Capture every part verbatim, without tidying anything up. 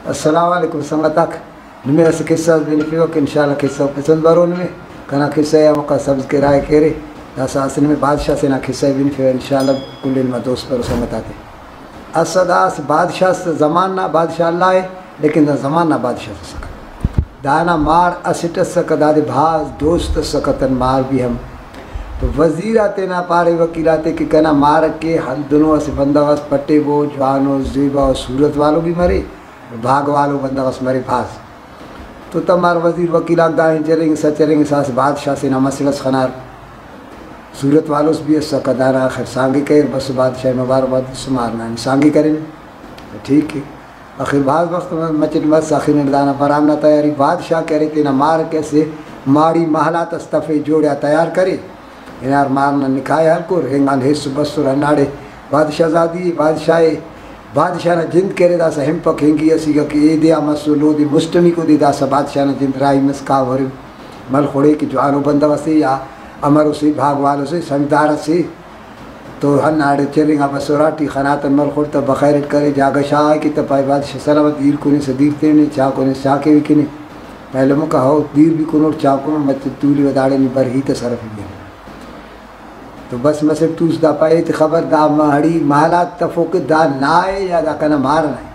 السلام علیکم سنگت آک، نمے اسہ قصہ اس بنفیوہ کہ انشاءاللہ قصہ ء پسند برو۔ نمے کنا قصہ ء ہموکا سبسکرائب کیرے، داسہ اسہ نمے بادشاہ سے نا قصہ ء بنفیوہ، انشاءاللہ کل علم دوست برو سنگت آتے۔ اسہ دا اسہ بادشاہ اس، زمان نا بادشاہ اللہ ء، لیکن دا زمان نا بادشاہ اس اسکہ۔ دانا مار اسٹ اسکہ، دادے بھاز دوست اسکہ، تن مار بھی ہم۔ تو وزیر آ تینا پارے وکیل آتے کہ کنا مار کہ ہندنو اسہ بندغ اس پٹیبو، جوانو، زیبا و صورت والو بھی مرے، بھاگ والو بندغ اس مرے بھاز۔ تو تمار وزیر وکیل آک دا ہن چرینگسا چرینگسا اسہ بادشاہ سے نا مسڑ اس خنار۔ صورت والوس بھی اسکہ، دانا آخر سانگے کریر، بس بادشاہ مبارکباد تس، مار نا نی سانگے کرین۔ ٹھیک ء۔ آخر بھاز وخت مچٹ مس، آخر اٹ دانا برام نا تیاری۔ بادشاہ کہ ارے تینا مار کہ اسہ ماڑی محلات اس تفے، جوڑیا تیار کرے، ہنار مار نا نکاح ء ہلکر، ہنگان ہیس بسر ہناڑے۔ بادشاہ زادی ء، بادشاہ ء، بادشاہ نا جند کہ ارے داسہ ہنپک ہنگی اسیکہ کہ ایدے آ مسر لودے مسٹمیکو دے، داسہ بادشاہ نا جند راہی مس، کاو ہرن ملخوڑے کہ جوانو بندغ اسے یا امر اسے، بھاگ وال اسے، سمجھدار اسے۔ تو ہنداڑے چرینگا بس اراٹی خناتن ملخوڑ تہ بخیر اٹ کرے، جاگہ شاغا کہ تہ پائے بادشاہ سلامت، دیر کنسہ دیر تینے، چا کنسہ چا کیوی کنے۔ پہلے مکہ ہو دیر بھی کنوٹ، چا کنوٹ، مچہ تولی و داڑے نی بر ہیت اس ہرفی بین۔ تو بس مسٹ توس دا پائے ایتے خبر دا ماڑی محلات تفوک، دا نائے یا دا کنا مار نائے۔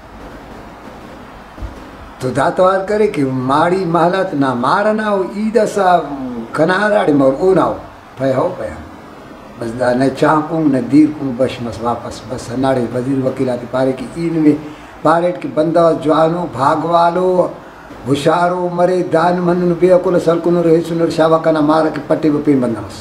تو دا توار کرے کہ ماڑی محلات نا مار ئنا او، ای داسہ کنا ہراڑے مور اونا او۔ پائے ہو پائے ہم۔ بس دا نہ چاں کن نہ دیر کن، بش مس واپس۔ بس ہنداڑے وزیر وکیل آتے پارے کہ ای نمے پاریٹ کہ بندغ اس جوانو، بھاگوالو، ہشارو مرے، دانم ہندنو بے عقل اس ہلکنر، ہیسنر، شابا کنا مار کہ پٹیبہ پین بندغ اس۔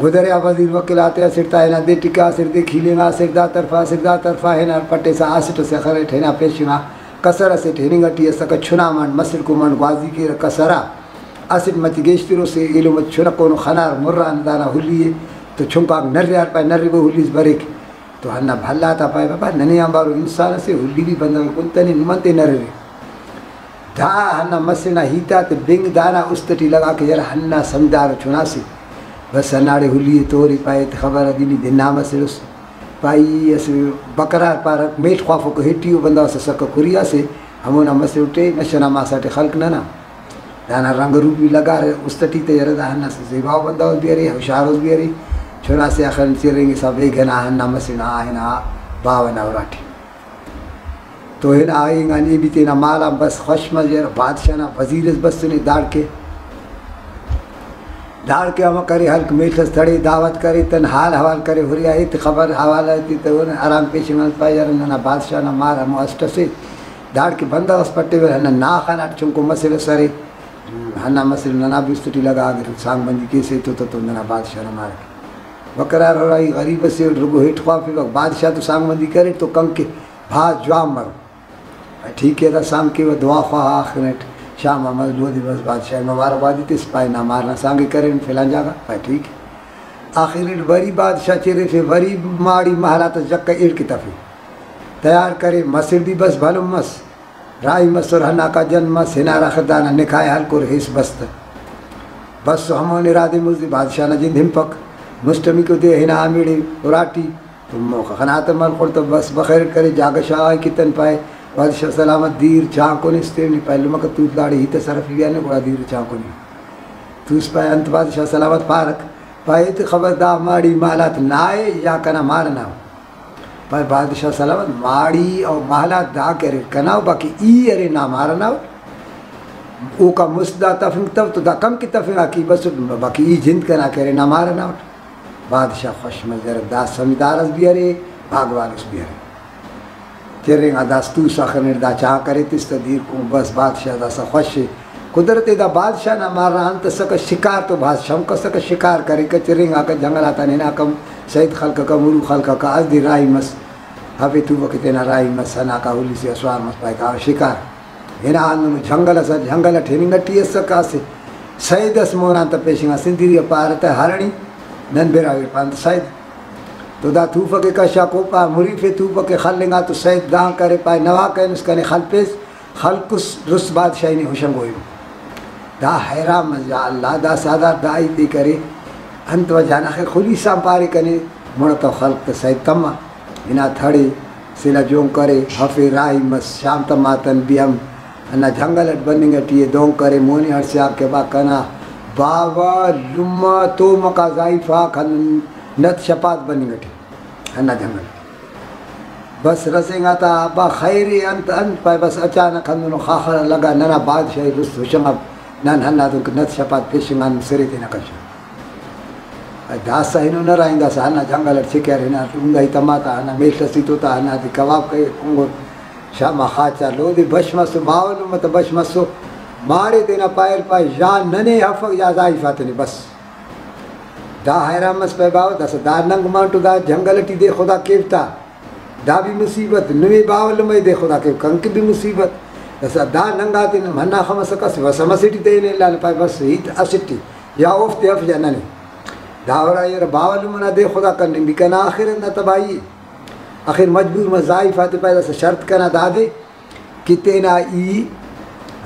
گدرے آ وزیر وکیل آتے اسٹ تا ہنا دے ٹکا، اسٹ دے کھیلینگا، اسٹ دا طرفا، اسٹ دا طرفا، ہنار پٹیسا اسٹ اسے خریٹ، ہنا پیشنگا کسر اسیٹ ہننگ ٹی اسکہ، چنا منڈ مسڑ کو منڈ گوازی کیرہ کسر آ۔ اسٹ مچہ گیشتر اسے ایلو مچہ چنکونو خنار مران دانا ہلی ء تو چنکاک نریار پائے، نربو ہلی اس بریک۔ تو ہندا بھلا تا پائے، بابا ننے آنبارو انسان اسے، ہلی بھی بندغ کنتنے، نمن تے نررے۔ دا ہندا مسڑ نا ہیت آتے بنگ دانا است ٹی لگا کہ یار ہندا سمجھدار چنا سے۔ بس ہنداڑے ہلی ء تورے پائے تے خبر ادی نی دنا مسڑس۔ پائی اسہ بکرار پارہ، میڷ خوافوکو ہٹی او بندغ اس اسکہ کھری آ سے، ہمونا مسڑ اٹے نشہ نا ماسا ٹی خلک ننا۔ دانا رنگ روپ بھی لگارہ، است ٹی تیرہ، دا ہندا اسہ زیباؤ بندغ اس بھی ارے، ہشار اس بھی ارے۔ چنا سے آخر چرینگسا بیگہ نا ہندا مسڑ نا آ ہنا باوہ نا اراٹی۔ تو ہنا اینگان ای بھی تینا مال آن بس خوش مزہ، بادشاہ نا وزیر اس بسنے داڑکے۔ داڑکے امر کرے، ہلک میڷ اس تڑے، دعوت کرے، تن حال حوال کرے، ہریا ایت خبر حوالہ تے تو آرام پیشنگ آن پائے، یار ننا بادشاہ نا مار ہمو اسٹ اسے، داڑکے بندغ اس پٹیوہ، ہندا نا خناٹ چنکو مسڑ اس ارے، ہندا مسڑ ننا بھی است ٹی لگا، اگر سانگ بندی کیسے تو، تو، تو ننا بادشاہ نا مار۔ بکرار ہرائی غریب اسے، رگو ہیٹ خوافیوہ، بادشاہ تو سانگ بندی کرے تو کنکے بھاز جوان مرو۔ ٹھیک ہے، دا سانگ کیوہ، دعا خواہ، آخر اٹ شام آ مس لودے بس بادشاہ مبارکبادی تس، پائے نا مار نا سانگ ء کرین فلان جاگہ، پائے ٹھیک۔ آخر اٹ وری بادشاہ چرفے، وری ماڑی محلات اس جکہ ایڑ کہ تفے، تیار کرے، مسڑ بھی بس بھلن مس، راہی مسر، ہناکا جن مس، ہنار آخر دانا نکاح ء ہلکر، ہیس بس تہ۔ بس ہمون ارادے مزدی بادشاہ نا جند ہنپک، مسٹمیکو دے ہنا ہمیڑے اراٹی۔ تو موخہ خناتہ ملخوڑ تہ بس بخیر اٹ کرے، جاگہ شاغا کتن پائے، بادشاہ سلامت دیر چانکن اس تیو نی پائے لمکہ توت داڑے ہیت اس ہرفی بیانے گڑا دیر چانکن ای۔ توس پائے انت بادشاہ سلامت پارک؟ پائے ایتے خبر دا ماڑی مالات نائے یا کنا مار ئنا او؟ پائے بادشاہ سلامت ماڑی او مالات دا کہ اریر کنا او، باقی ای ارے نا مار ئنا او۔ اوکا مست دا تفنگ تو، تو دا کم کہ تفنگا کی بس، باقی ای جند کنا کہ ارے نا مار ئنا اٹ۔ بادشاہ خوش مزرہ، دا سمجھدار اس بھی ارے، بھاگوال اس بھی ارے۔ چرینگا داس توسا خنر، دا چاہ کرے تس تہ دیر کن بس بادشاہ داسا خوش ء۔ قدرت ء دا بادشاہ نا مار نا انت اسکہ، شکار تو بھاز شوق اسکہ، شکار کریکہ، چرینگاکہ جنگل آتان ہناکہ، سید خلککہ، مرو خلککہ، اس دے راہی مس، ہفے توبہ کہ تینا راہی مس، ہناکا ہلی سے اسوار مس، پائے کاوہ شکار۔ ہنا ہندنو جنگل ئس، جنگل ئٹ ہننگ ئٹی ئسکہ، اسہ سید ئس مون آن تہ پیشنگا سندھی ء پارہ تہ ہرنی، نن براہوئی پان تہ سید۔ تو دا توفک ء کشا کوپا مریف ء توفک ء خلنگا تو سید دان کرے پائے نوا کینس کنے خلپیس، خلکس رس بادشاہی نے ہشنگو ایمو۔ دا حیران مس، یا اللہ دا سادار دا ہیتے کرے، انت وجہ نا خیر خلیس آن پارے کنے مڑتو خلک تہ سید تما ہنا تھڑے۔ سلہ جون کرے، ہفے راہی مس، شام تماتن بھی ہم ہندا جنگل اٹ بننگ اٹی ءِ۔ دون کرے، مونی ہڑسیار کہ با کنا باوہ لمہ تومکا زائیفاک ہندن نت شپات بننگ اٹی ہندا جنگل اٹ۔ بس رسینگا تا، ابا خیر ءِ، انت انت پائے؟ بس اچانک ہندنو خاخر لگا، ننا بادشاہی رست ہشنگا، نن ہندادن کہ نت شپات پیشنگان سرے تینا کشا۔ داسہ ہنو نہ رائینگاسہ ہندا جنگل اٹ چکر ہنا ٹونگا ہی تما تا، ہندا میل اسیتو تا، ہندا تے کباب کہی کنگو، شاما خاچا لودے بش مسو، باوہ لمہ تا بش مسو، ماڑے تینا پائل پائے، یا ننے ہفک یا زائیفا تنے بس۔ دا حیران مس پائے باوہ، داسہ دا ننگ مانٹو دا جنگل اٹی دے خدا کیو تا۔ دا بھی مصیبت، نمے باوہ لمہ دے خدا کیو، کنکہ بھی مصیبت۔ داسہ دا ننگا تینا ہندا خمسہ کس وسہ مسٹی تینے الا پائے بس ہیت اسٹی۔ یا اوفتے اف یا ننے۔ دا ہرا یار باوہ لمہ نا دے خدا کننگ بھی کنا آخر اندا تباہی ءِ۔ آخر مجبور مس، زائیفا تے پائے داسہ شرط کنا دادے کہ تینا ای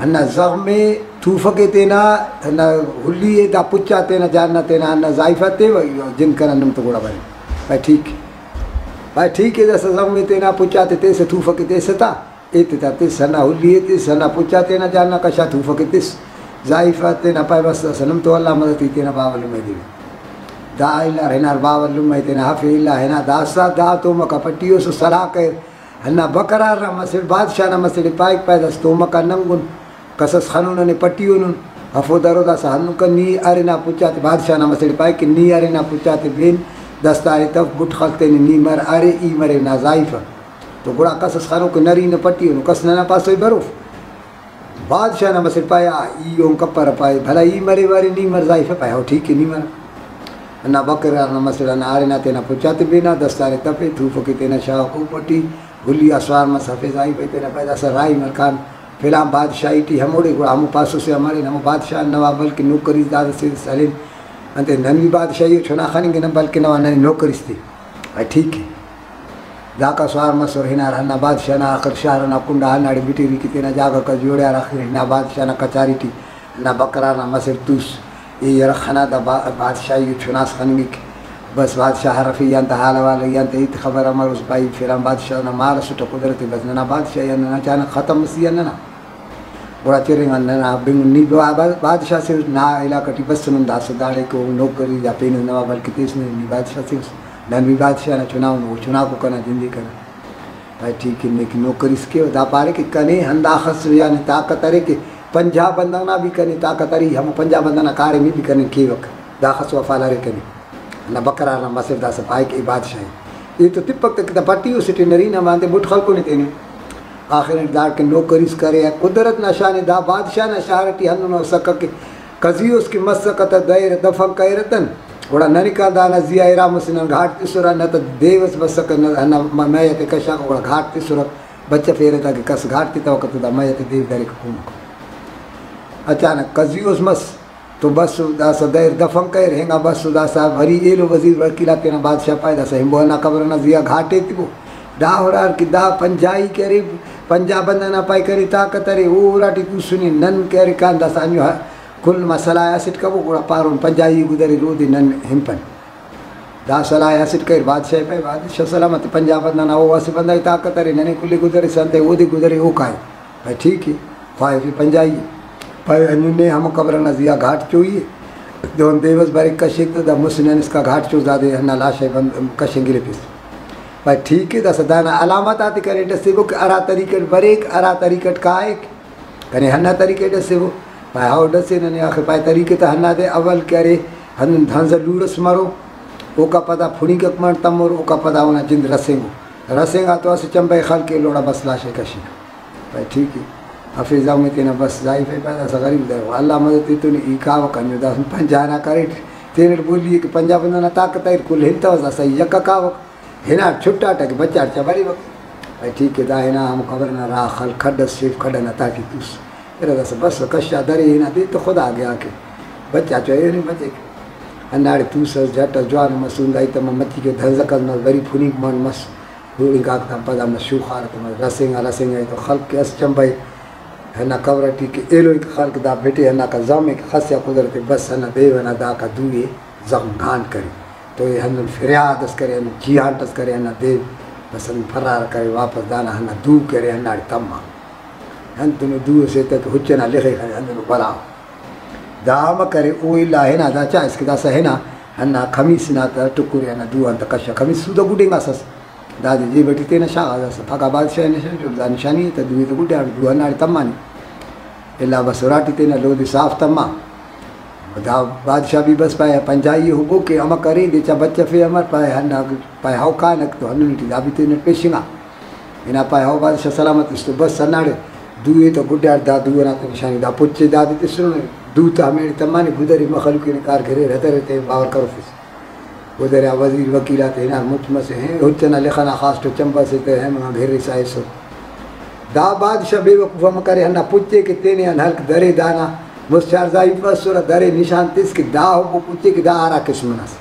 ہندا زغم ءِ توفکے، تینا ہندا ہلی ءِ، دا پچا تینا جان نا تینا ہندا زائیفا تے، جند کنا نم تو گڑا بنے۔ پائے ٹھیک ءِ۔ پائے ٹھیک ءِ، داسہ زغم ءِ تینا پچا تے تیسہ، توفکے تیسہ تا۔ ایتے تا تس ہندا ہلی ءِ تس، ہندا پچا تینا جان نا کشا، توفکے تس۔ زائیفا تینا پائے بس داسہ نم تو اللہ مدد ای، تینا باوہ لمہ ءِ دیوہ۔ دا الار ہنار باوہ لمہ ءِ تینا ہفے الا ہنا، داسہ دا تومکا پٹیوسو، سلاہ کریر۔ ہندا بکرار نا مسڑ، بادشاہ نا مسڑ پائک، پائے داسہ تومکا ننگن، کسس خنو ننے پٹیونن، ہفو درو داسہ ہندن کہ نی ارے نا پچا تے، بادشاہ نا مسڑ پائک کہ نی ارے نا پچا تے بین، دستارے تف، بٹ خلک تینے، نی مر ارے، ای مرے نا زائیفہ۔ تو گڑا کس اس خنوکو نرینہ پٹی ہنو، کس ننا پاسو ای بروف۔ بادشاہ نا مسڑ پائے، آ، ای اون کپرہ پائے، بھلا ای مرے بارے نی مر زائیفہ؟ پائے، ہو ٹھیک ہے نی مر۔ ہندا بکرار نا مسڑ ہندا آرے نا تینا پچاتے بینا، دستارے تفے، تھوفکے تینا شاغ کو پٹی، ہلی آ سوار مس ہفے زائیفہ تینا پائے داسہ راہی مرکان فلان بادشاہی ٹی ہموڑے گڑا ہمو پاسو سے آ مرین، ہمو بادشاہ نواب بلکن نوکری دادے سے سلین۔ انتے نن بھی بادشاہی و چنا خننگنہ بلکن نوا ننے نوکری اس تے۔ پائے ٹھیک ہے۔ داکا سوار مسر ہنار ہندا بادشاہ نا آخر شار ئنا کنڈا ہنداڑے بٹیری کہ تینا جاگہ غا جوڑیار، آخر ہنا بادشاہ نا کچاری ٹی ہندا بکرار نا مسڑ توس، ای یرخ خنا دا با-، بادشاہی و چناس خننگک۔ بس بادشاہ ہرفے، ایان تا حال احوال، ایان تا ہیت خبر امروس بھائی، فلان بادشاہ نا مار ئسٹہ قدرتے، بس ننا بادشاہی آن ننا اچانک ختم مسی آن ننا۔ گڑا چرینگان ننا بنگ نی با-، با-، بادشاہ سے نا علاقہ ٹی بسنن، داسہ داڑے کہ او نوکری یا پین نواب بلکہ تیس نے، نی بادشاہ سے اس، نن بھی بادشاہ نا چناؤن، او چناکو کنا جندے کنا۔ پائے ٹھیک ہے، نیک نوکری اس کے۔ دا پارے کہ کنے ہنداخس یعنی طاقت ارے کہ پنجاہ بندغ نا بھی کنے طاقت ارے، ہمو پنجاہ بندغ نا کاریم ءِ بھی کنے کیوک، داخس وفال ارے کنے۔ ہندا بکرار نا مسڑ داسہ پائک اے بادشاہی۔ اے تو تپک تہ کہ دا پٹی اسے ٹی نرینہ ماندے بٹ خلکنے تینے۔ آخر اٹ داڑکن نوکری اس کرے۔ قدرت نا شان ءِ، دا بادشاہ نا شار ٹی ہندن اسکہ کہ قضیوس کہ مسکہ تہ دیر دفن کریرتن، گڑا ننکان دانا زیہا ارا مسہ نن گھاٹ تسرہ، نہ تہ دیو اس بسکہ، نہ ہندا م-، میت ءِ کشاکہ، گڑا گھاٹ تسرہ، بچفیرہ تاکہ کس گھاٹ تتوکہ تہ دا میت ءِ دیو دریکہ کمکو۔ اچانک قضیوس مس، تو بس داسہ دیر دفن کریر، ہنگا بس داسہ وری ایلو وزیر وکیل آک تینا بادشاہ پائے، داسہ ہنبو ہندا قبر ئنا زیہا گھاٹ ایتبو۔ دا ہرار کہ دا پنجاہی کہ ارے، پنجاہ بندغ نا پائے کنے طاقت ارے، او اراٹی توسنے، نن کہ ارے کان داسہ انجو ہ-، کل ما سلاہ اسٹ کبو، گڑا پارون پنجاہی گدریر اودے نن ہنپن۔ دا سلاہ اسٹ کریر، بادشاہ پائے، بادشاہ سلامت، پنجاہ بندغ نا او اسہ بندغ ءِ طاقت ارے، ننے کل ءِ گدرسہ انتئے اودے گدرے او کائے۔ پائے ٹھیک ءِ، خواہفے پنجاہی ءِ۔ پائے ہندن نے ہمو قبر ئنا زیہا گھاٹ چوئی ءِ۔ دہن دیوس بریک کشیک تہ دا مسہ نن اسکا گھاٹ چوس دادے ہندا لاش ءِ بند-، کشنگ گرفس۔ پائے ٹھیک ءِ، داسہ دانا علامت آتے کنے ڈسیبو کہ ہرا طریقہ ئٹ بریک، ہرا طریقہ ئٹ کائک، کنے ہندا طریقہ ڈسیبو۔ پائے ہو ڈسے ننے آخر پائے طریقہ تہ ہندادے اول کہ ارے ہندن دھنزہ لوڑ ئس مرو، اوکا پدا پھنیکک منٹ تمر، اوکا پدا اونا جند رسینگو۔ رسینگا تو اسہ چمبہ ءِ خلک ایلوڑا بس لاش ءِ کشینہ۔ پائے ٹھیک ءِ، ہفے زغم ءِ تینا بس زائیفہ پائے داسہ غریب درو، اللہ مدد ایتون ای کاوک انجو داسہ پنجاہ نا کریٹ، تینٹ بولی ءِ کہ پنجاہ بندغ نا طاقت اریر، کل ہنتوس داسہ ای یکہ کاوک، ہناٹ چھٹاٹہ کہ بچار چا بریوک۔ پائے ٹھیک ءِ، دا ہنا ہمو قبر ئنا راہ خل کھڈ ئس شیف، کھڈ ئنا تہٹی توس۔ ارا داسہ بس کشا درے ہنا دے تو خدا گیا کہ بچا چو ایہن بچک۔ ہنداڑے توسس جٹ ئس جوان مس، ہندا ہیت مس، مچی کہ دھنزک ئس مس، بری پھنیک منٹ مس۔ ہُرنگ آک تا پدا مس شوخار تے مس، رسینگا رسینگا ای تو خلک کہ اس چمبہ ءِ ہندا قبر ٹی کہ ایلو ای کہ خلک دا بٹے ہنداکا زغم ءِ کہ خس یا قدرت ءِ بس ہندا دیو ئنا داکا دو ءِ زغم گھانٹ کرے تو ای ہندن فریاد اس کرے، ہندن چیہانٹ اس کرے ہندا دیو۔ بس ہندن فرار کرے، واپس دانا ہندا دو کرے، ہنداڑے تما۔ ہندنو دو اسے تہ کہ ہچ ئنا لخے خنے، ہندنو بلا۔ دا امر کرے، او الا ہنا دا چا اس کہ داسہ ہنا ہندا خمیس نا تہ ٹکرے ہندا دو آن تہ کشا۔ خمیس سودا گڈینگاسس۔ دادے جیب ٹی تینا شاغا، داسہ پھگا بادشاہ نشان جو دا نشانی تہ دو ئے تہ گڈا دو ہنداڑے تمانے۔ الا بس اراٹی تینا لودے صاف تما۔ دا بادشاہ بھی بس پائے پنجائی ہو بو کہ امر کرے، دے چا بچفے امر پائے ہندا پائے ہو کانک تو ہندن ٹی دا بھی تینا پیشنگا۔ ہنا پائے ہو بادشاہ سلامت اس تو بس ہنداڑے دو ئے تو گڈا دا دو ئنا تو نشانی دا پچے دادے تسنو دو تا ہمیڑے تمانے گدرے مخلوق نے کار گھرے رترے تے باور کروفس۔ گدرے آ وزیر وکیل آتے ہنار مچ مسے ہیں، ہچ ئنا لخنا خاص تو چمبہ سے تے ہیں منا گھرے سائسو۔ دا بادشاہ بے وقوف ہم کرے، ہندا پچے کہ تینے آن ہلک درے دانا مست چار ضعیف اسرہ، درے نشان تس کہ دا ہمو پچے کہ دا ہرا قسم ئنا سے۔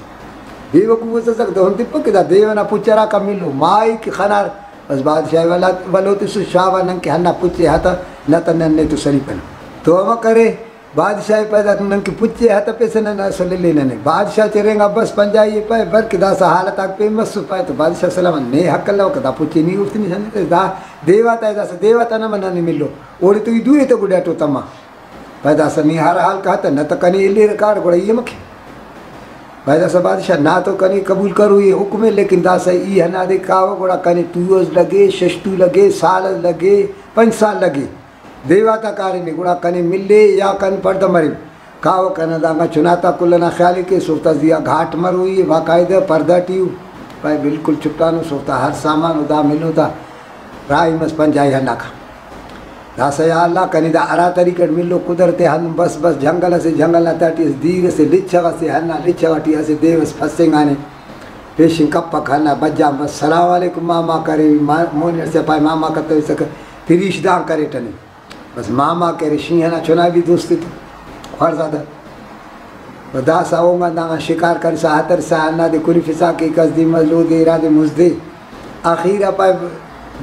بے وقوف اس اسک دہن تپک کہ دا دیو ئنا پچ ہراکا ملو، مائی کہ خنار۔ بس بادشاہ ولو تسو شابا نن کہ ہندا پچے ہتہ، نہ تہ نن نے تو سلیپنہ۔ تو ہمہ کرے، بادشاہ ءِ پائے دا نن کہ پچے ہتپیسہ نن اسل الینے۔ بادشاہ چرینگا بس پنجائی ءِ پائے بر کہ داسہ حالت آک پین مسو پائے تو بادشاہ سلام نے حق الوکہ دا پچے نی اوفتے نشان تس دا دیواتا ءِ داسہ دیواتا نما ننے ملو اوڑے تو ای دو ئے تہ گڈاٹو تما۔ پائے داسہ نی ہر حال کاتہ نہ تہ کنے الیرہ کاڑ گڑا ای امر کے۔ پائے داسہ بادشاہ نا تو کنے قبول کروئی حکم ءِ لیکن داسہ ای ہندادے کاوہ گڑا کنے تُو ئس لگے، شش تُو لگے، سال ئس لگے، پنچ سال لگے۔ دیواتا کاریم ءِ گڑا کنے ملے یا کن پڑدہ مرے۔ کاوہ کنا دانگا چناتا کل ئنا خیال ءِ کیس، اوفتا زیہا گھاٹ مروئی ءِ، باقاعدہ پردہ ٹی ءُ۔ پائے بالکل چٹانو، اوفتا ہر سامان ءُ دا ملو تا راہی مس پنجائی ہناکا۔ داسہ یا اللہ کنے دا ہرا طریقہ اٹ ملو قدرت ءِ ہندن بس بس جنگل اسے، جنگل نا تہٹی اسہ دیر اسے، لچغ اسے، ہندا لچغ ٹی اسہ دیو ئس پھسنگانے۔ پیشن کپک ہندا بجان بس، سلام علیکم ماما کرے، ما-، مونی ہڑسے پائے ماما کتویسکہ، پریش دان کریٹہ نے۔ بس ماما کرے شینہہ نا چنا بھی دوست تو خوارزادہ۔ و داسہ اوغان داغان شکار کرسا ہترسا ہندادے کنفسا کہ کس دے مس لودے ارادے مزدے۔ آخیر آ پائے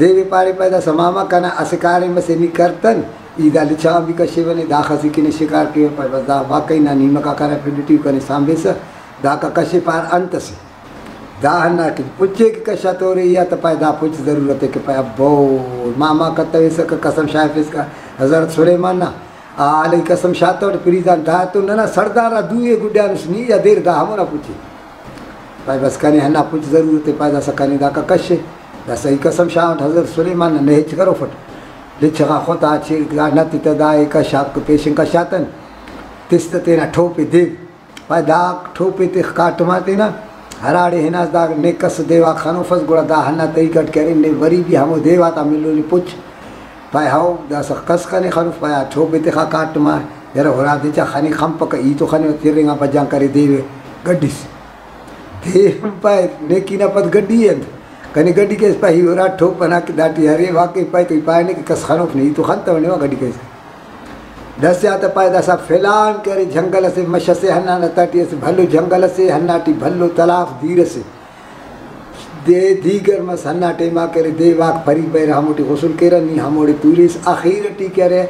دیوے پارے پائے داسہ ماما کنا اسہ کاریم اسے نی کرتن، ای دا لچغان بھی کشیونے، داخس ای کنے شکار کیوہ۔ پائے بس دا واقعی نا نیمکا کرا پھڈ ٹی کنے سانبیسہ، داکا کشے پار انت اسے۔ دا ہندا کہ پچے کہ کشا تورے یا تہ پائے دا پچ ضرورت ءِ کہ پائے ابو ماما کتویسکہ قسم شاغفسکہ حضرت سلیمان نا۔ آ علیہ قسم شاتوٹ پریزان دا تو ننا سڑدار آ دوئے گڈانس نی یا دیر دا ہمونا پچے۔ پائے بس کنے ہندا پچ ضرورت ءِ، پائے داسہ کنے داکا کشے۔ داسہ ای قسم شاغٹ حضرت سلیمان نا نے ہچ کروفٹ۔ لچغا خطا چے دا نت تہ دا ءِ کشاک پیشن کشاتن۔ تس تہ تینا ٹھوپ ءِ دیو۔ پائے دا ٹھوپ ءِ تخ کاٹم آ تینا، ہراڑے ہناس دا نے کس دیواک خنوفس، گڑا دا ہندا طریقہ اٹ کرے، نے وری بھی ہمو دیواتا ملو نے پچ۔ پائے ہئو، داسہ کس خنے خنوف، پائے آ ٹھوپ ءِ تخا کاٹم آ، یرہ ہرا دے چا خنے خنپکہ، ای تو خنے ترنگا بجان کرے دیو ءِ گڈس۔ دے پائے نیکی نا پد گڈی ءِ انت؟ کنے گڈی کیس پائے ای ہرا ٹھوپ ئنا کہ داٹی ارے واقعی پائے تو ای پائنے کہ کس خنوف نے، ای تو خنتونے وا گڈی کیس۔ داسہ آ تہ پائے داسہ فلان کہ ارے جنگل اسے مش اسے ہندا تہٹی اسہ بھلو جنگل اسے ہندا ٹی بھلو تلاف دیر اسے۔ دے دیگر مس ہندا ٹائما کہ ارے دیواک پری بریرہ ہموٹی غسل کیرہ نی ہموڑے توریس آخیر ٹی کہ ارے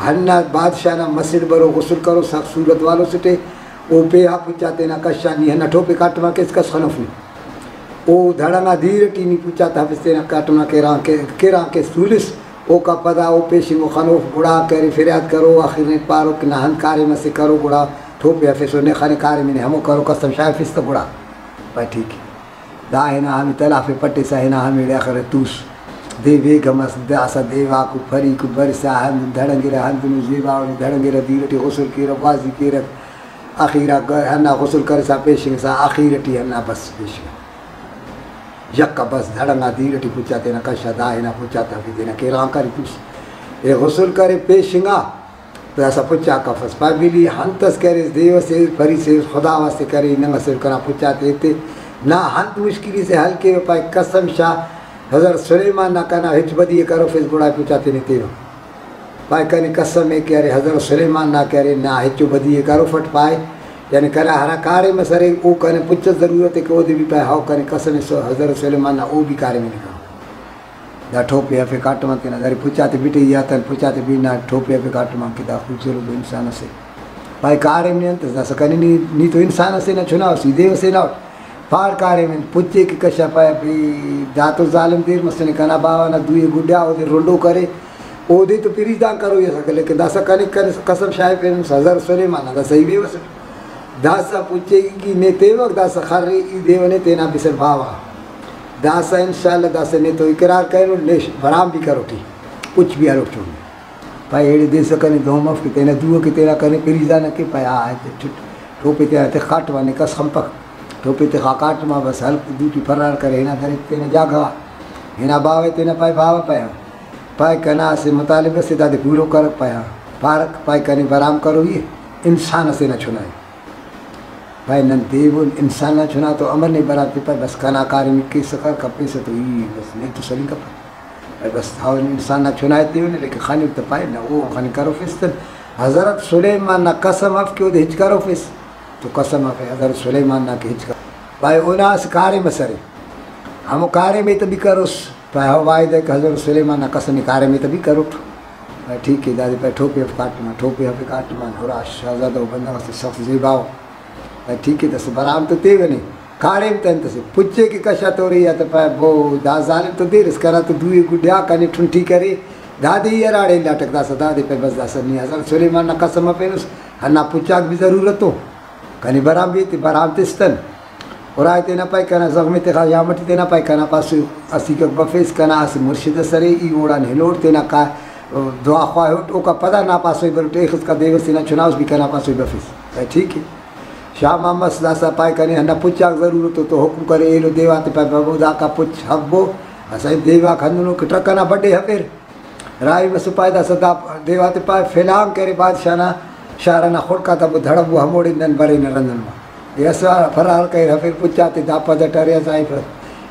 ہندا بادشاہ نا مسڑ برو غسل کرو سخت صورت والو سے ٹے او پے آ پچا تینا کشا نی ہندا ٹھوپے کاٹما کیس کس خنوف نی۔ او دھڑنگا دیر ٹی نی پچا تہ ہفس تینا کاٹما کیران کے-، کیران کیس تولس۔ اوکا پدا او پیشنگو خنوف گڑا کہ ارے فریاد کرو، آخر نے پارو کہ نا ہند کاریم اسے کرو گڑا ٹھوپے ہفسو نے خنے کاریم نے ہمو کرو قسم شاغفس تہ گڑا پائے ٹھیک ءِ۔ دا ہنا ہمے تلافے پٹسا ہنا ہمیڑے اخر توس۔ دے بیگم اس داسہ دیواکو پریکو برسا ہندن دھڑنگرہ ہندنو زیباؤ نے دھڑنگرہ دیر ٹی غسل کیرہ گوازی کیرہ۔ آخیرا گ-، ہندا غسل کرسا پیشنگسا آخیر ٹی ہندا بس پیشنگ۔ یکا بس دھڑنگا دیر ٹی پچا تینا کشا دا ہنا پچا تفی تینا کیرغان کری توس۔ اے غسل کرے پیشنگا داسہ پچا کفس۔ پائے بلی ہنتس کریس دیو سے پری سے خدا واسطے کرے ننگ اسے کنا پچا تے ایتے نا ہنت مشکلی سے حل کیوہ پائے قسم شاہ حضرت سلیمان نا کنا ہچ بدی ءِ کروفیس گڑا پچا تینے تیوہ۔ پائے کنے قسم ءِ کہ ارے حضرت سلیمان نا کہ ارے نا ہچو بدی ءِ کروفٹ پائے، یعنی کنا ہرا کاریم اس ارے او کنے پچ اس ضرورت ءِ کہ اودے بھی پائے ہاؤ کنے قسم ءِ سو-، حضرت سلیمان نا او بھی کاریم ءِ نے کرو۔ دا ٹھوپے ہرفے کاٹم آن تینا داری پچاتے بٹے ای آتن پچاتے بھی نا ٹھوپے ہرفے کاٹم آن کہ دا خوبصورت انسان اسے۔ پائے کاریم نے انت اس داسہ کنے نی، نی تو انسان اسے نا چنا اس ای دے اسے نا اٹ۔ پار کاریم انت، پچ ءِ کہ کشا پائے، بھئی، دا تو ظالم دیر مسنے، کنا باوہ نا دوئی گڈا اودے رنڈو کرے، اودے تو پریزدان کروئی ئسکہ، لیکن داسہ کنے کنے قسم شاغفینس، حضرت سلیمان نا داسہ ای بیوس اٹ۔ داسہ پچ ءِ کہ نے تیوک، داسہ خر ءِ ای دیونے تینا بسر باوہ۔ داسہ انشاءاللہ داسہ نے تو اقرار کرینٹ، نے برام بھی کروٹی، پچ بھی ہلوٹ چونے۔ پائے ایڑے دیسہ کنے دہن مف کہ تینا دو ءِ کہ تینا کنے پریزدان ءِ کہ پائے آ ٹھٹ-، ٹوپے تینا تخ کاٹم آ، نے کس خنپک۔ ٹوپے تخا کاٹم آ، بس ہلک دوٹی فرار کرے، ہنا درے تینا جاگہ غا۔ ہنا باوہ تینا پائے، باوہ پائے آ۔ پائے کنا اسہ مطالبہ سے، دادے پورو کرک پائے آ۔ پارک پائے کنے برام کروئی ءِ، انسان اسے نا چنا ءِ۔ پائے نن دیون انسان نا چنا تو امر نے برام تپہ، بس کنا کاریم کیسہ کر کپیسہ تو ای بس نے تو سلنگ کپہ۔ پائے بس داون انسان نا چنا ءِ تیونے، لیکن خنک تہ پائے نہ او خنک کروفیس تن۔ حضرت سلیمان نا قسم اف کہ اودے ہچ کروفیس، تو قسم اف حضرت سلیمان نا کہ ہچ کر-، پائے اونا اسہ کاریم ئس ارے، ہمو کاریم ءِ تہ بھی کروس۔ پائے ہو وعدہ کہ حضرت سلیمان نا قسم ءِ کاریم ءِ تہ بھی کروٹ۔ پائے ٹھیک ءِ، دادے پائے ٹوپے اف کاٹم آ، ٹوپے ہفے کاٹم آ، ہرا شہزادہ و بندغ اسے سخت زیبا ءُ۔ پائے ٹھیک ءِ، داسہ برام تو تیونے، کاریم تہ انت اسے، پچ ءِ کہ کشا تورے یا تہ پائے بو، دا ظالم تو دیر اس، کنا تو دوئی گڈا کنے ٹھنٹی کرے، دادے ای ہراڑے الاٹک، داسہ دادے پائے بس داسہ نی حضرت سلیمان نا قسم ءِ پینس، ہندا پچ آک بھی ضرورت ءُ۔ کنے برام بھی تے برام تستن۔ اور آئے تینا پائے کنا زغم تخا یا مٹی تینا پائے کنا پاسو اسیکک بفیس، کنا اسہ مرشد ئس ارے، ای اوڑان ہلوٹ تینا کا دعا خواہوٹ، اوکا پدا نا پاسوئی بروٹ، ایخس کا دیو سے نا چناوس بھی کنا پاسوئی بفیس۔ پائے ٹھیک ءِ۔ شام آ مس داسہ پائے کنے ہندا پچ آک ضرورت ءُ، تو حکم کرے ایلو دیواتے پائے ببو داکا پچ ہبو۔ اسہ دیواک ہندنو کہ ٹرک ئنا بڈے ہفیر۔ راہی مسو پائے داسہ دا دیواتے پائے فلان کرے بادشاہ نا شار ئنا خڑک آتا بو دھڑبو ہموڑے نن برینہ رندن ما۔ اے اسہ فرار کریر ہفیر پچ آتے دا پد ئٹ ارے ضعیف ئس۔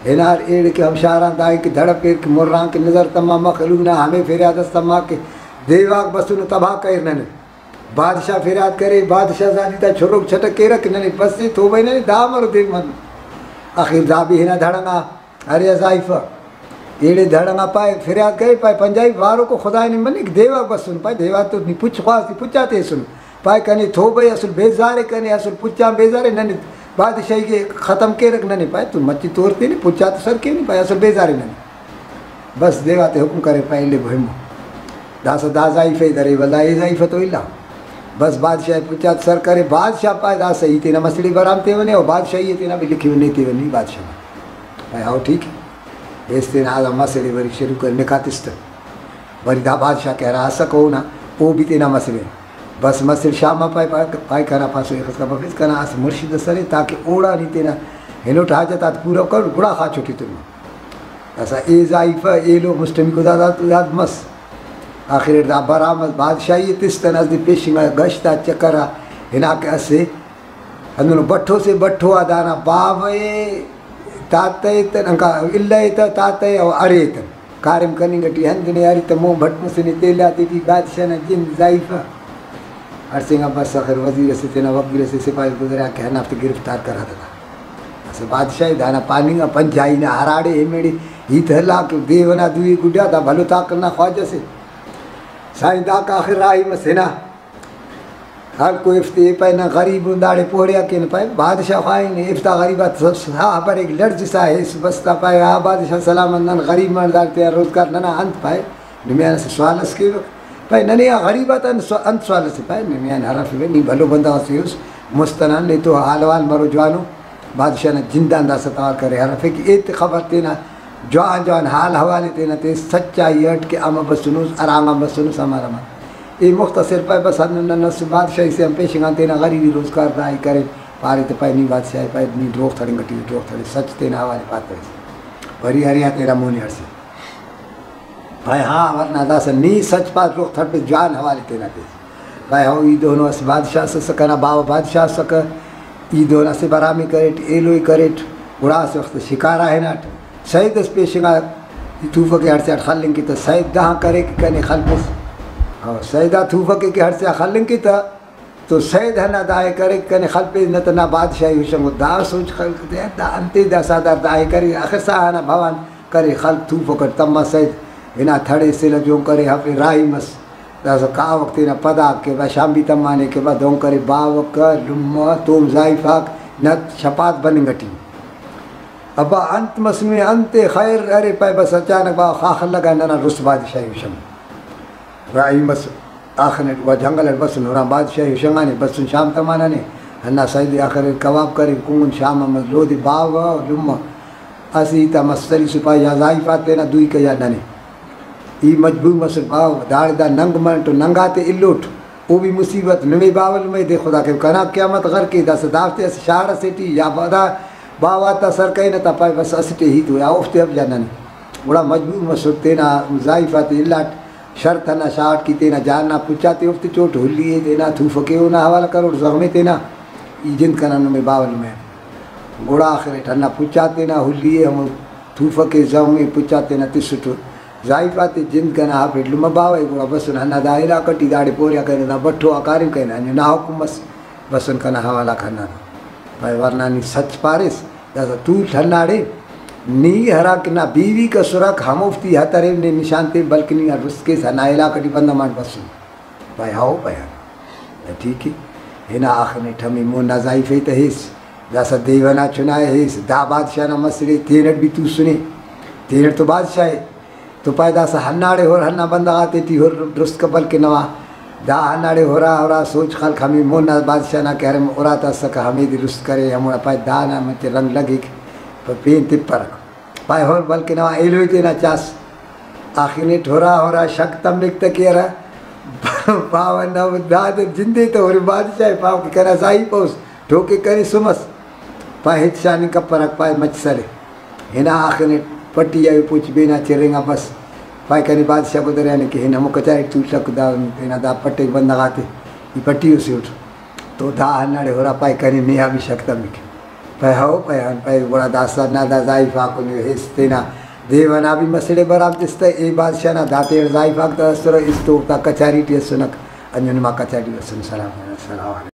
ہنار ایڑے کہ ہم شار آن دائے کہ دھڑپیر کہ مر آن کہ نظر تما مخلوق نا ہمے فریاد ئس تما کہ دیواک بسنو تباہ کریر ننے۔ بادشاہ فریاد کرے، بادشاہ زادی تا چھروک چھٹک کیرہ کہ ننے بس اے توبہ ننے دا مرو دین من۔ آخر دا بھی ہنا دھڑنگا۔ ارے ضعیفہ، ایڑے دھڑنگا پائے فریاد کرے، پائے پنجابی باروکو خدائے نی منک، دیوا بسن، پائے دیوا تو نی پچ خواست، پچاتے ہسن۔ پائے کنے توبہ اسل بیزارے، کنے اسل پچان بیزارے، ننے بادشاہی کے ختم کیرک ننے، پائے تو مچی تور تینے، پچاتے سر کینے، پائے اسل بیزارے ننے۔ بس دیواتے حکم کرے، پائے الے بہمو۔ داسہ دا ضعیفہ درے، ولدا اے ضعیفہ تو الا۔ بس بادشاہ پچات سر کرے، بادشاہ پائے داسہ ای تینا مسڑے برام تیونے، او بادشاہی تینا بھی لکھی نے تیونی بادشاہ۔ پائے ہاؤ ٹھیک ءِ۔ ایس تینا آ مسڑے وری شروع کر نکاتستہ۔ وری دا بادشاہ کہ ہرا اسکہ اونا، او بھی تینا مسڑے۔ بس مسڑ شام آ پائے، پائے، پائے کنا پاسو ایخس کا بفیس، کنا اسہ مرشد ئس ارے تاکہ اوڑان ای تینا ہنوٹ حاجت آتے پورو کر، گڑا خاچوٹ ایتنو۔ داسہ اے ضعیفہ ایلو مسٹمیکو داد آتے داد مس۔ آخر اٹ دا برام ئس بادشاہی ءِ تس تن اس دے پیشنگا گشت آ چکر آ ہنا کہ اسہ ہندنو بٹھو سے، بٹھو آ دانا باوہ ءِ تاتہ ءِ تن، انکا الہ ءِ تہ تاتہ ءِ او ارے تن۔ کاریم کننگ ٹی ہندن ءِ اری تہ مون بھٹ مسنے تیل آتے ٹی بادشاہ نا جند ضعیفہ۔ ہڑسینگا بس آخر وزیر ئسے تینا وکیل ئسے سپاہی گزریا کہ ہندافتے گرفتار کرا دادا۔ اسہ بادشاہ ءِ دانا پاننگ آ پنجائی نا ہراڑے ہمیڑے ہیت ہلا کہ دیو ئنا دوئی گڈا دا بھلو طاقت نا خواجہ سے۔ سائیں داکا آخر راہی مس ہنا۔ ہر کوئی افتے پائے نن غریب ان داڑے پوڑیا کین پائے بادشاہ خواہنگ افتا غریب آتا ساہ بریک لڑزسا ہیس بستا پائے آ بادشاہ سلامت نن غریب من داڑے تینا روزگار ننا انت پائے۔ نمیان اسہ سوال اس کیوک پائے ننے آ غریب آتا انت سو-، انت سوال اسے پائے نمیان ہرفیوہ نی بھلو بندغ اسے اس مست ئنا نے تو حال حوال مرو جوانو۔ بادشاہ نا جندان داسہ توار کرے ہرفے کہ ایتے خبر تینا جوان جوان حال حوال ءِ تینا تے سچائی اٹ کہ امر بسنس، ہرانگ آن بسنس، امر امر۔ ای مختصر پائے بس ہندن نن اسہ بادشاہی سے آن پیشنگ آن تینا غریبی روزگار داہی کرے، پارے تہ پائے نی بادشاہ ءِ پائے نی دروغ تھڑنگ ٹی دروغ تھڑے، سچ تینا حوالے پاتہ۔ وری ارے آ تینا مونی ہڑسے۔ پائے ہاں ورنا داسہ نی سچ پاس دروغ تھڑپس جوان حوالے تینا تیس۔ پائے ہو ای دونو اسہ بادشاہ ئسکہ، کنا باوہ بادشاہ ئسکہ، ای دون اسہ برامی کریٹ، ایلوئی کریٹ، گڑا اسہ وخت شکارا ہناٹ۔ سید ئس پیشنگا توفک ئے ہڑسے آٹ خلنگ کے تہ سید دہان کرے کہ کنے خلپس۔ ہو، سید آ توفک ئے کہ ہڑسے آ خلنگ کے تہ تو سید ہندا داہے کرے کہ کنے خلپیس نہ تہ نا بادشاہی ہشنگو۔ دا سوچ خلک تے دا انتے دا ساہدار داہے کرے، اخسا ہنا بھوان کرے خلک توفک اٹ تما سید ہنا تھڑے سلہ جون کرے ہفے راہی مس۔ داسہ کاوک تینا پدا کہ با شام بھی تمانے کہ با دہن کرے باوک لمہ توم زائیفاک نت شپات بننگ ٹی۔ ابا انت مسنے، انت خیر؟ ارے پائے بس اچانک باوہ خاخر لگا، ننا رست بادشاہی ہشنگ۔ راہی مس آخنے و جنگل اٹ بسن، ہرا بادشاہی ہشنگانے، بسن شام تمانانے، ہندا سیدے آخر کباب کرے، کنگن شام مس لودے باوہ لمہ۔ اسہ ہیتا مس سری سپاہی یا زائیفات تینا دوئی کیا ننے۔ ای مجبور مسٹ باوہ، داڑے دا ننگ منٹ و ننگاتے الوٹ۔ او بھی مصیبت، نمے باوہ لمہ دے خدا کہ کنا قیامت غر کے، داسہ دافتے اسہ شار اسے ٹی یا پدا باوہ تا سر کرینہ تا پائے بس اسٹ ءِ ہیت و یا اوفتے اف جا ننے۔ گڑا مجبور مسٹ تینا زائیفاتے الاٹ، شرط ہندا شاٹ کہ تینا جان نا پچ آتے اوفتے چوٹ، ہلی ءِ تینا تھوفکے اونا حوالہ کروٹ، زغمے تینا، ای جند کنا نمے باوہ لمہ۔ گڑا آخر اٹ ہندا پچ آ تینا ہلی ءِ ہمو تھوفکے زغمے پچ آ تینا تسٹ۔ زائیفاتے جند کنا ہرفیٹ لمہ باوہ ءِ، گڑا بسن ہندا دا علاقہ ٹی داڑے پوریا کرینہ، دا بٹھو آ کاریم کرینہ، انجو نا حکم مس، بسن کنا حوالہ آک ہندانا۔ پائے ورنا نی سچ پاریس، داسہ تولٹ ہنداڑے نی ہرا کہ نا بیویک اسرک ہموفتے ہترین نے نشان تے، بلکہ نی رست کیس ہندا علاقہ ٹی بندغ مانک بسن۔ پائے ہو پائے ہاں۔ ٹھیک ءِ۔ ہنا آخنٹ ہمے مون نا زائیفہ ءِ تہ ہیس، داسہ دیوان آ چنا ءِ ہیس، دا بادشاہ نا مسڑے، تینٹ بھی توسنے، تینٹ تو بادشاہ ءِ۔ تو پائے داسہ ہنداڑے ہر، ہندا بندغ آتے ٹی ہر درست کپل کہ نوا دا ہنداڑے ہرا ہرا سوچ خلک ہمے مون نا بادشاہ نا کہ ہرم اراتا اسکہ، ہمیدے درست کرے، ہموڑا پائے دانا مچہ رنگ لگک، پین تپرک۔ پائے ہر بلکہ نوا ایلوے تینا چاس۔ آخنٹ ہرا ہرا شک تمک تہ کہ ارا باوہ نا داد جندے تہ ہر بادشاہ ءِ، پاو کہ کنا زائیفہ اس، ٹوکے کنے سمس۔ پائے ہچ شانی کپرک، پائے مچ سلے۔ ہنا آخنٹ پٹی آ پوچ بینا چرینگا بس۔ پائے کنے بادشاہ گدریانے کہ ہن ہمو کچاری ٹی تولٹک، دا تینا دا پٹیک بندغ آتے، ای پٹی اسے اٹ۔ تو دا ہنداڑے ہرا پائے کنے نے آ بھی شک تمک۔ پائے ہو، پائے ہن، پائے گڑا داسہ نا دا زائیفاک ہیس تینا دیوان آ بھی مسڑے برام تس تہ، اے بادشاہ نا دا تیڑ زائیفاک تہ اسرہ، است اوفتا کچاری ٹی اسنک، انجن ما کچاری ٹی اسن۔ سلام، السلام علیکم۔